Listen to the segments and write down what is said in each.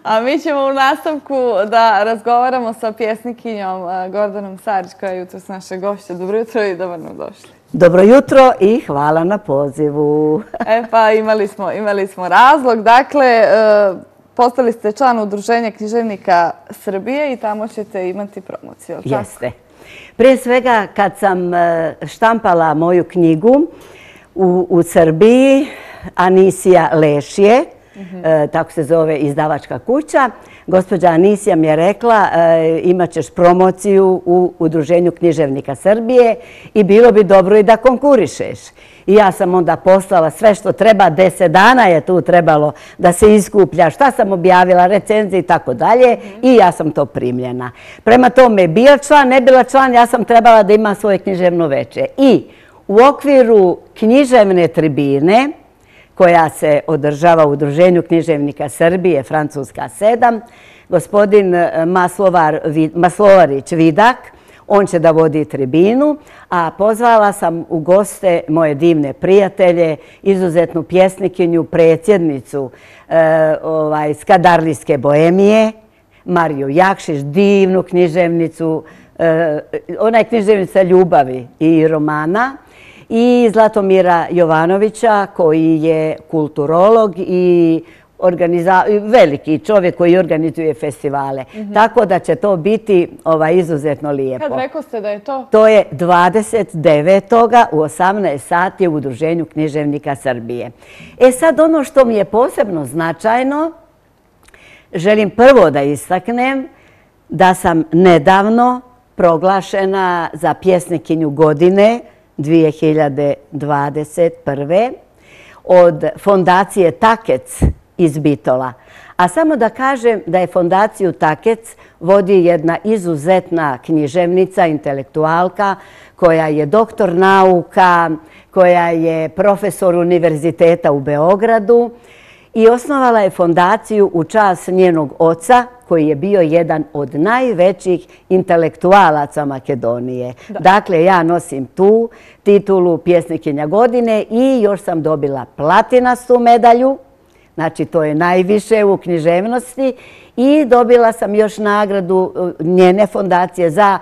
A mi ćemo u nastavku da razgovaramo sa pjesnikinjom Gordanom Sarić, koja je jutros naše gošće. Dobro jutro i dobro nam došli. Dobro jutro i hvala na pozivu. Pa imali smo razlog. Dakle, postali ste član Udruženja književnika Srbije i tamo ćete imati promociju. Jeste. Prije svega, kad sam štampala moju knjigu u Srbiji, Anisija Lešije, tako se zove izdavačka kuća, gospođa Anisija mi je rekla imat ćeš promociju u Udruženju književnika Srbije i bilo bi dobro i da konkurišeš. I ja sam onda poslala sve što treba, 10 dana je tu trebalo da se iskuplja, šta sam objavila, recenzije i tako dalje i ja sam to primljena. Prema tome, bio član, ne bila član, ja sam trebala da imam svoje književno veče. I u okviru književne tribine, koja se održava u Udruženju književnika Srbije, Francuska 7, gospodin Maslovarić Vidak, on će da vodi tribinu, a pozvala sam u goste moje divne prijatelje, izuzetnu pjesnikinju, predsjednicu Skadarlijske boemije, Mariju Jakšić, divnu književnicu, ona je književnica ljubavi i romana, i Zlatomira Jovanovića, koji je kulturolog i veliki čovjek koji organizuje festivale. Tako da će to biti izuzetno lijepo. Kad rekao ste da je to? To je 29. u 18 sati u Udruženju književnika Srbije. Sad ono što mi je posebno značajno, želim prvo da istaknem da sam nedavno proglašena za pjesnikinju godine 2021. od fondacije Takec iz Bitola. A samo da kažem da je fondaciju Takec vodi jedna izuzetna književnica, intelektualka, koja je doktor nauka, koja je profesor univerziteta u Beogradu i osnovala je fondaciju u čast njenog oca, koji je bio jedan od najvećih intelektualaca Makedonije. Dakle, ja nosim tu titulu pjesnikinja godine i još sam dobila platinastu medalju, znači to je najviše u književnosti, i dobila sam još nagradu njene fondacije za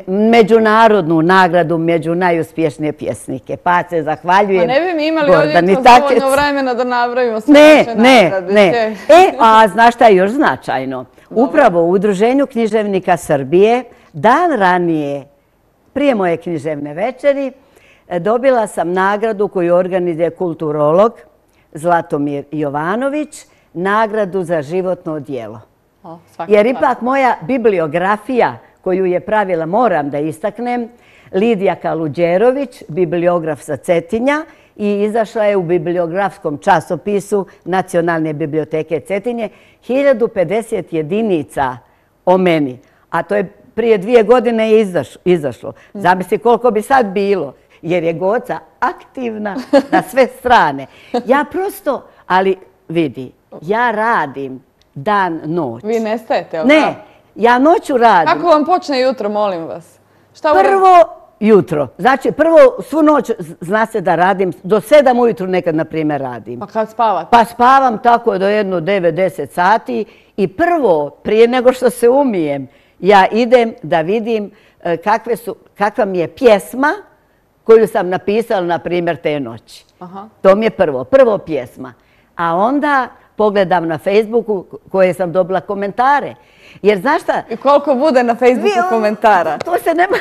međunarodnu nagradu među najuspješnije pjesnike. Pa se zahvaljujem. Pa ne bi mi imali ovdje dovoljno vremena da nabrojimo sve naše nagrade. Ne. A znaš šta je još značajno? Upravo u Udruženju književnika Srbije, dan ranije, prije moje književne večeri, dobila sam nagradu koju organizuje kulturolog Zlatomir Jovanović, nagradu za životno djelo. Jer ipak moja bibliografija koju je pravila, moram da istaknem, Lidija Kaluđerović, bibliograf sa Cetinja, i izašla je u bibliografskom časopisu Nacionalne biblioteke Cetinje 1050 jedinica o meni. A to je prije 2 godine izašlo. Zamisli koliko bi sad bilo, jer je Goca aktivna na sve strane. Ja prosto, ali vidi, ja radim dan, noć. Vi nestajete, ali ne, ja noću radim. Kako vam počne jutro, molim vas? Prvo jutro. Znači, prvo svu noć zna se da radim, do 7 ujutru nekad, na primjer, radim. Pa kad spavate? Pa spavam tako do 9-10 sati i prvo, prije nego što se umijem, ja idem da vidim kakva mi je pjesma koju sam napisala, na primjer, te noći. To mi je prvo pjesma. A onda pogledam na Facebooku koje sam dobila komentare. Jer znaš šta? I koliko bude na Facebooku komentara? To se nema...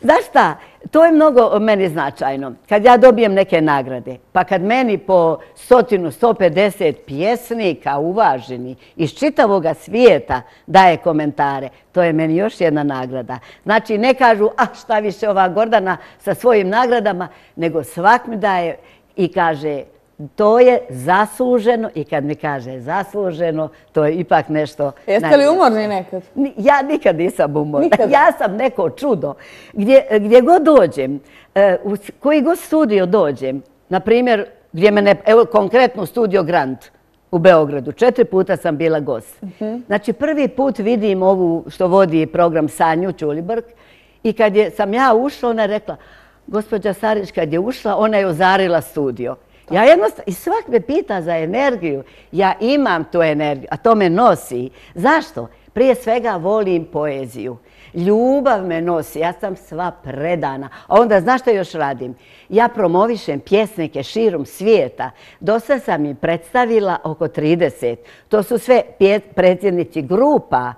Znaš šta? To je mnogo meni značajno. Kad ja dobijem neke nagrade, pa kad meni po 100-150 pjesnika uvaženi iz čitavoga svijeta daje komentare, to je meni još jedna nagrada. Znači, ne kažu, šta više ova Gordana sa svojim nagradama, nego svak mi daje i kaže, to je zasluženo, i kad mi kaže zasluženo, to je ipak nešto... Jeste li umorni nekad? Ja nikad nisam umorna. Ja sam neko čudo. Gdje god dođem, u koji god studio dođem, na primjer, gdje mene, evo konkretno studio Grand u Beogradu, 4 puta sam bila gost. Znači, prvi put vidim ovu što vodi program Sanju Ćulibrk i kad sam ja ušla, ona je rekla, gospođa Sarić kad je ušla, ona je ozarila studio. Ja jednostavno, i svak me pita za energiju. Ja imam tu energiju, a to me nosi. Zašto? Prije svega volim poeziju. Ljubav me nosi, ja sam sva predana. A onda, znaš što još radim? Ja promovišem pjesnike širom svijeta. Dosta sam im predstavila oko 30. To su sve predsjednici grupa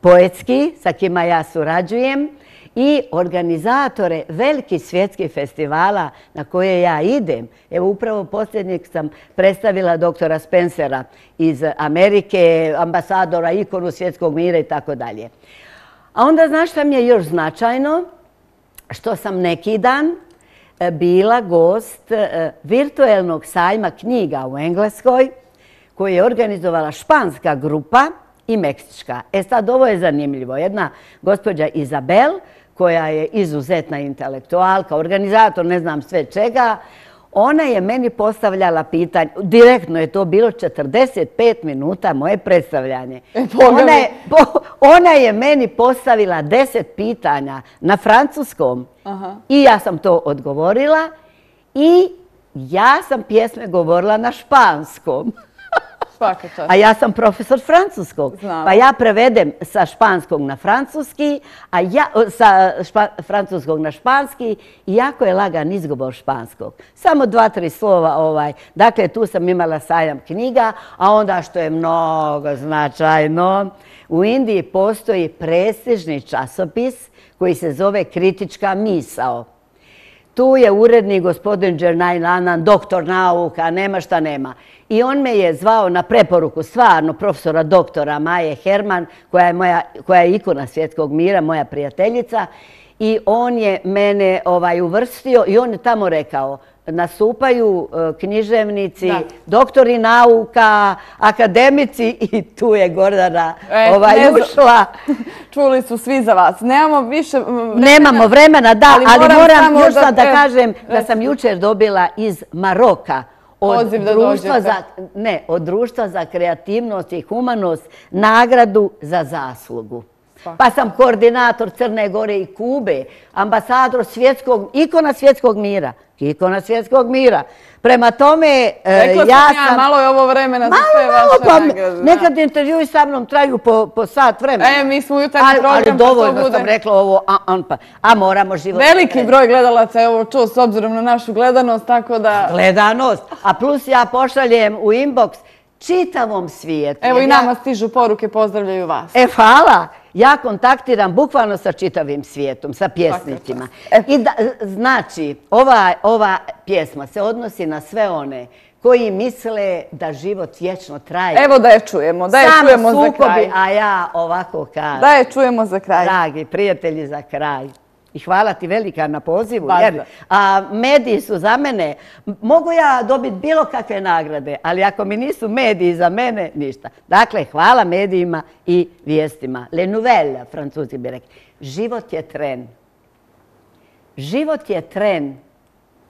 poetski, sa kima ja surađujem, i organizatore velikih svjetskih festivala na koje ja idem. Evo, upravo posljednjeg sam predstavila doktora Spencera iz Amerike, ambasadora, ikonu svjetskog mira i tako dalje. A onda, znaš šta mi je još značajno? Što sam neki dan bila gost virtuelnog sajma knjiga u Engleskoj, koju je organizovala španska grupa i meksička. E sad, ovo je zanimljivo. Jedna gospođa Izabel, koja je izuzetna intelektualka, organizator, ne znam sve čega, ona je meni postavljala pitanje, direktno je to bilo 45 minuta moje predstavljanje. Ona je meni postavila 10 pitanja na francuskom i ja sam to odgovorila i ja sam pjesme govorila na španskom. A ja sam profesor francuskog, pa ja prevedem sa španskog na francuski, sa francuskog na španski i jako je lagan izgovor španskog. Samo 2-3 slova. Dakle, tu sam imala sajam knjiga, a onda što je mnogo značajno, u Indiji postoji prestižni časopis koji se zove Kritička misao. Tu je urednik gospodin Džernail Anand, doktor nauka, nema šta nema. I on me je zvao na preporuku stvarno profesora doktora Maje Herman, koja je ikona svjetskog mira, moja prijateljica. I on je mene uvrstio i on je tamo rekao, nastupaju književnici, doktori nauka, akademici i tu je Gordana ušla. Čuli su svi za vas. Nemamo više vremena. Nemamo vremena, da, ali moram još sad da kažem da sam jučer dobila iz Maroka od Društva za kreativnost i humanost nagradu za zaslugu. Pa sam koordinator Crne Gore i Kube, ambasador ikona svjetskog mira. Ikona svjetskog mira. Prema tome, ja sam... Malo je ovo vremena za sve vaše nagrade. Nekad intervjui sa mnom traju po sat vremena. Mi smo u jutarnji program, ali dovoljno sam rekla ovo, a moramo život... Veliki broj gledalaca je ovo čuo s obzirom na našu gledanost, tako da... Gledanost, a plus ja pošaljem u inbox čitavom svijetu. Evo i nama stižu poruke, pozdravljaju vas. Hvala. Ja kontaktiram bukvalno sa čitavim svijetom, sa pjesnicima. I znači, ova pjesma se odnosi na sve one koji misle da život vječno traje. Evo da je čujemo, za kraj. Samo sukobi, a ja ovako kažem. Da je čujemo za kraj. Dragi prijatelji, za kraj. I hvala ti velika na pozivu, jer mediji su za mene. Mogu ja dobiti bilo kakve nagrade, ali ako mi nisu mediji za mene, ništa. Dakle, hvala medijima i vijestima. Le nouvelle, Francuzi bi rekli. Život je tren. Život je tren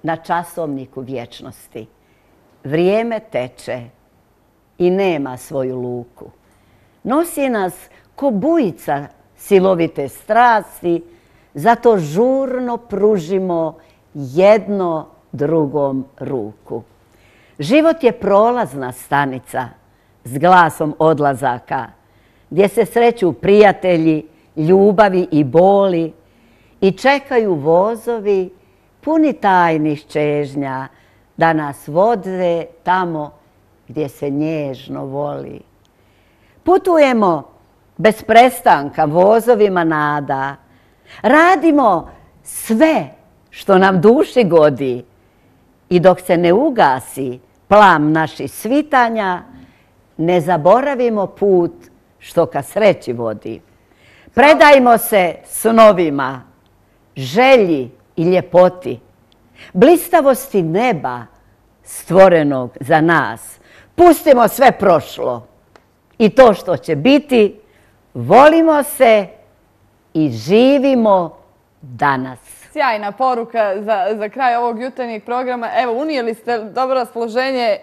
na časovniku vječnosti. Vrijeme teče i nema svoju luku. Nosi nas ko bujica silovite strasti, zato žurno pružimo jedno drugom ruku. Život je prolazna stanica s glasom odlazaka, gdje se sreću prijatelji, ljubavi i boli i čekaju vozovi puni tajnih čežnja da nas vode tamo gdje se nježno voli. Putujemo bez prestanka vozovima nada, radimo sve što nam duši godi i dok se ne ugasi plam naših svitanja, ne zaboravimo put što ka sreći vodi. Predajmo se snovima, želji i ljepoti, blistavosti neba stvorenog za nas. Pustimo sve prošlo i to što će biti, volimo se i živimo danas. Sjajna poruka za kraj ovog jutarnjeg programa. Evo, unijeli ste dobro raspoloženje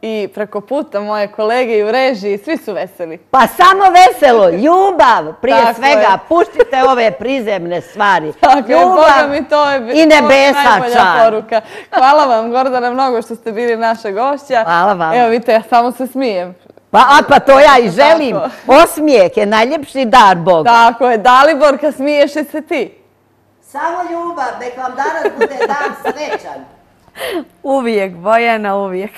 i preko puta moje kolege i u režiji, svi su veseli. Pa samo veselo, ljubav prije Tako svega. je. Puštite ove prizemne stvari. Tako je, Boga mi to je i nebesa najbolja čar. poruka. Hvala vam, Gordana, mnogo što ste bili naša gošća. Hvala vam. Evo vidite, ja samo se smijem. Pa to ja i želim. Osmijeh je najljepši dar Boga. Tako je, Daliborka, smiješ li se ti? Samo ljubav, nek vam danas bude dan srećan. Uvijek, Bojana, uvijek.